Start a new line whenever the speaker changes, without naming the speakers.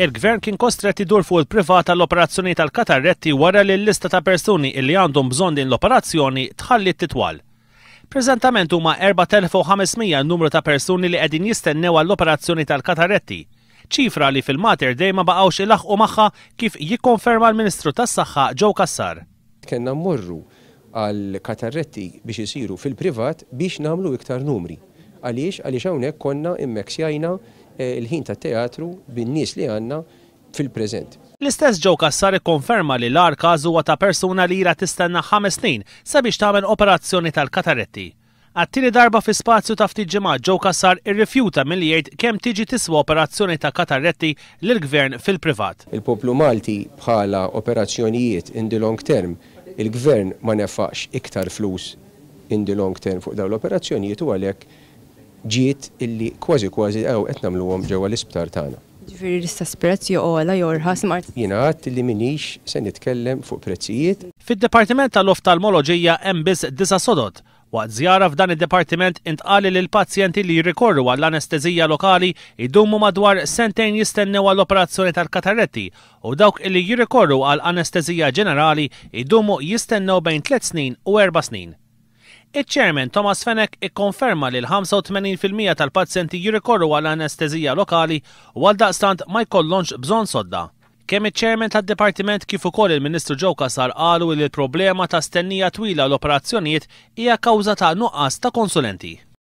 Il-Gvern kien kostrett idur fuq il-privat għall-operazzjoni tal-katarretti wara li l-lista ta' persuni illi għandhom bżonn din l-operazzjoni tħalliet titwal. Preżentament huma 4,500 n-numru ta' persuni li qegħdin jistennew għall-operazzjoni tal-katarretti. Ċifra li fil-Mater Dei ma baqgħux ilaħħqu magħha kif jikkonferma l-Ministru tas-Saħħa Joe Cassar.
Kellna mmorru għal katarretti biex isiru fil-privat biex nagħmlu iktar numri. Għaliex? Għaliex hawnhekk konna immeksjajna l-ħin tat-teatru bin-nies li għandna fil-preżent.
L-istess Joe Cassar ikkonferma li l-agħar każ huwa ta' persuna li ilha tistenna ħames snin sabiex tagħmel operazzjoni tal-kataretti. Għat-tieni darba fi spazju ta' ftit ġimgħat Joe Cassar irrifjuta milli jgħid kemm tiġi tiswa operazzjoni ta' katarretti lill-Gvern fil-privat.
Il-poplu Malti bħala operazzjonijiet in the long term, il-Gvern ma nefaqx iktar flus in the long term fuq dawn l-operazzjonijiet u għalhekk ġiet illi kważi kważi hawn qed nagħmluhom ġewwa l-isptar tagħna.
Jiġifieri l-istess prezz jew ogħla jew irħas imma.
Jiena għedt illi m'iniex se nitkellem fuq prezzijiet.
Fid-Dipartiment tal-Oftalmoloġija hemm biss disa' sodod. Waqt żjara f'dan id-dipartiment intqal li l-pazjenti li jirrikorru għall-anesteżija lokali jdumu madwar sentejn jistennew għall-operazzjoni tal-katarretti u dawk li jirrikorru għal anesteżija ġenerali jdumu jistennew bejn tliet snin u erba' snin. Iċ-Chairman Thomas Fenech ikkonferma li l-85% tal-pazjenti jirrikorru għal anesteżija lokali u għaldaqstant ma jkollhomx bżonn sodda. Kemm iċ-Chairman tad-Dipartiment kif ukoll il-Ministru Joe Cassar qalu li l-problema ta' stennija twila għal operazzjonijiet hija kawża ta' nuqqas ta' konsulenti.